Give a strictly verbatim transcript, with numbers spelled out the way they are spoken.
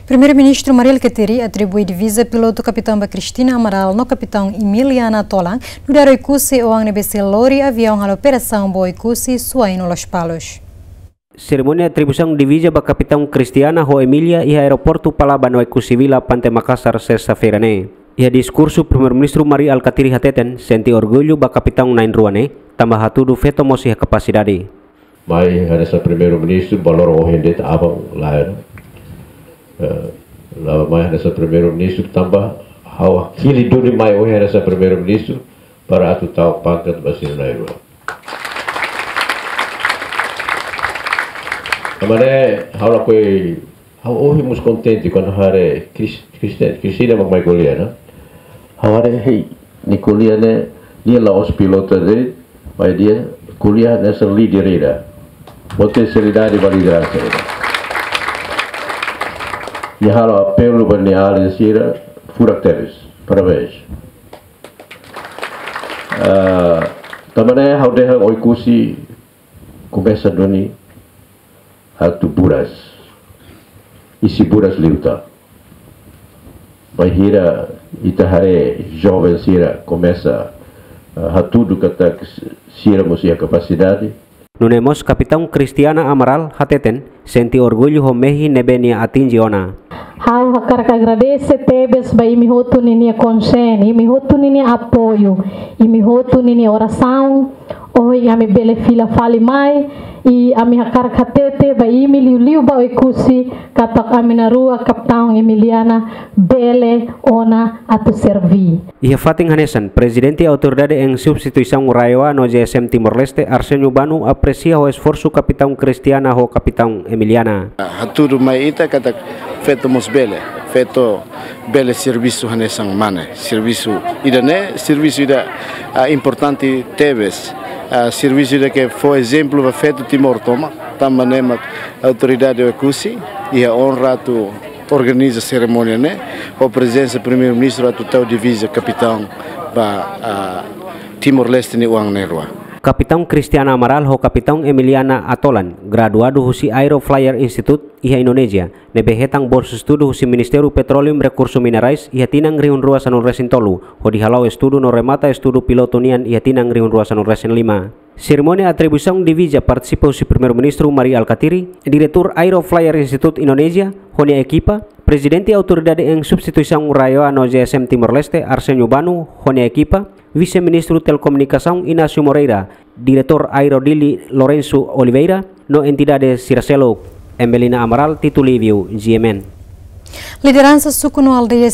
Primeiru-Ministru Mari Alkatiri atribui diviza pilotu Kapitaun ba Cristina Amaral no Kapitaun Emiliana Atolan, nu'udar Oekusi oan ne'ebé sei lori aviaun halo operasaun ba Oekusi Suainu Lospalos. Serimónia atribuisaun diviza ba Kapitaun Cristiana ho Emilia iha Aeroportu Palaban Oekusi Vila, Pante Makasar, sesta-feira ne'e. Iha diskursu, Primeiru-Ministru Mari Alkatiri hateten sente orgullu ba kapitaun na'in-rua ne'e, tanba hatudu feto mós iha kapasidade. Mai hanesan Primeiru-Ministru, ba loron ohin de'it aban lae. Eh, la mai hanesan Primeiru-Ministru tanba ha'u hili duni mai ohin hanesan Primeiru-Ministru para atu tau pangkat ba sira na'in-rua. Tanba ne'e ha'u lakohi, ha'u ohin mós kontente kuandu haree Cris-, Cristina, Cristina mak mai ko'alia ona. Ha'u haree, hei, nia ko'alia ne'e, nia la'ós pilotu de'it, maibé nia ko'alia hanesan líder ida. Potensialidade ba lideransa ida. Nia halo apelu ba nia alin sira, furak tebes. Parabéns. Ah, tanba ne'e ha'u dehan Oekusi komesa duni atu buras. Isin buras liután. Bainhira ita haree joven sira komesa, ah, hatudu katak sira mós iha kapasidade. Nune'e mós Kapitaun Cristiana Amaral hateten sente orgullu ho mehi ne'ebé nia atinje ona. Ha'u hakarak agradese tebes ba imi hotu ninia konsen, imi hotu ninia apoiu, imi hotu ninia orasaun, ohin ami bele fila fali mai, i ami hakarak hatete ba imi liuliu ba Oekusi, katak ami na'in-rua Kapitaun Emiliana bele ona atu serví. Iha fatin hanesan, Prezidente Autoridade em Substituição RAEOA no G S M Timor-Leste, Arsenio Bano, apresia ho esforsu Kapitaun Cristiana ho Kapitaun Emiliana. Hatudu mai ita katak feto mós bele, feto bele servisu hanesan mane. Servisu ida-ne'e, servisu ida, ah, importante tebes. Ah, servisu ida ke fó ezemplu ba feto Timor tomak, tanba ne'e mak Autoridade Oekusi iha onra atu organiza serimónia ne'e, ho prezensa Primeiru-Ministru atu tau diviza kapitaun ba, ah, Timor-Leste nia oan na'in-rua. Kapitaun Cristiana Amaral ho Kapitaun Emiliana Atolan, graduadu husi Aero Flyer Institute iha Indonézia, ne'ebé hetan bolsa estudu husi Ministériu Petróleu no Rekursu Minerais iha tinan rihun rua sanulu-resin-tolu, hodi hala'o estudu no remata estudu pilotu nian iha tinan rihun rua sanulu-resin-lima. Serimónia atribuisaun diviza partisipa husi Primeiru-Ministru Mari Alkatiri, Diretór Aero Flyer Institute Indonézia ho nia ekipa, Prezidente Autoridade em Substituição RAEOA no G S M Timor-Leste, Arsenio Bano ho nia ekipa, Vise-Ministru Telekomunikasaun Inácio Moreira, Diretór Aero Dili Lourenço Oliveira, no entidade sira seluk. Emelina Amaral, Tito Livio, G M N. Lideransa suku no aldeia